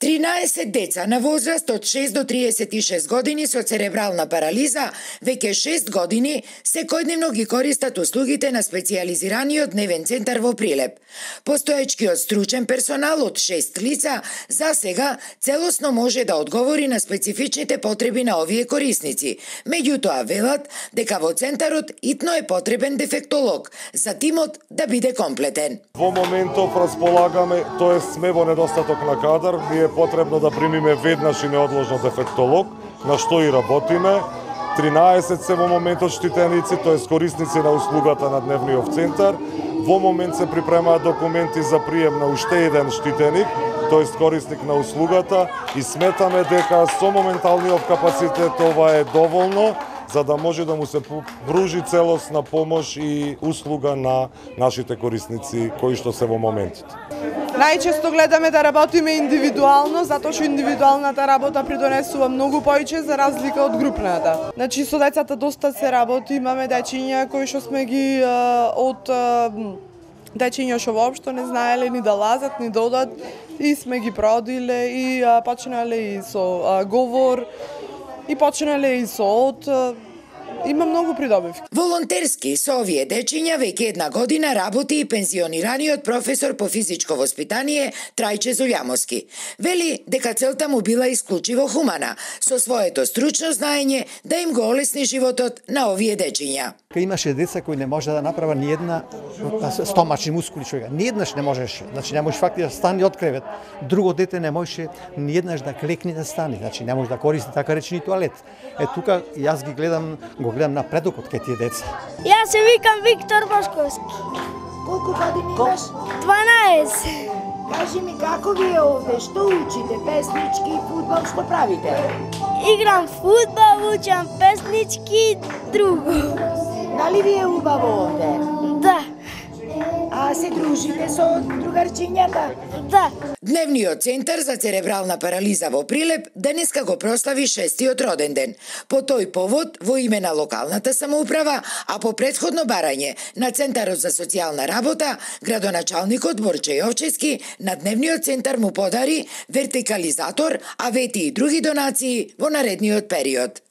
13 деца на возраст од 6 до 36 години со церебрална парализа веќе 6 години секојдневно ги користат услугите на специјализираниот дневен центар во Прилеп. Постоечкиот стручен персонал од 6 лица за сега целосно може да одговори на специфичните потреби на овие корисници. Меѓутоа велат дека во центарот итно е потребен дефектолог за тимот да биде комплетен. Во моментов располагаме, тоест сме во недостаток на кадар, ни е потребно да примиме веднаш и неодложно дефектолог, на што и работиме. 13 се во моментот штитеници, тоест корисници на услугата на дневниот центар. Во момент се припремаат документи за прием на уште еден штитеник, тоест корисник на услугата, и сметаме дека со моменталниот капацитет ова е доволно за да може да му се пружи целосна помош и услуга на нашите корисници кои што се во моментот. Најчесто гледаме да работиме индивидуално, затоа што индивидуалната работа придонесува многу повеќе за разлика од групната. Значи со децата доста се работи, имаме дечиња кои што сме ги од дечиња што воопшто не знаеле ни да лазат, ни да одат, и сме ги продиле и почнале и со говор, и почнале и со од. Има многу придобивки. Волонтерски со овие дечиња веќе една година работи и пензионираниот професор по физичко воспитание Трајче Зулјамовски. Вели дека целта му била исклучиво хумана, со своето стручно знаење да им го олесни животот на овие дечиња. Имаше деца кои не може да направа ни една стомачни мускули човека. Ни еднаш не можеше. Значи не можеш фактично да стане од кревет. Друго дете не можеше ни еднаш да клекне да стане. Значи не може да користи така речени тоалет. Тука јас ги гледам напредокот кај тие деца. Јас се викам Виктор Бошковски. Колку години имаш? 12. Кажи ми како ви е овде, што учите, песнички, фудбал, што правите? Играм фудбал, учам песнички, друго. Дали ви е убаво овде? Да. А се дружите со другарчињата? Да. Дневниот центар за церебрална парализа во Прилеп денеска го прослави 6-тиот роден ден. По тој повод, во име на локалната самоуправа, а по претходно барање на Центарот за социјална работа, градоначалникот Борче Јовчевски на дневниот центар му подари вертикализатор, а вети и други донации во наредниот период.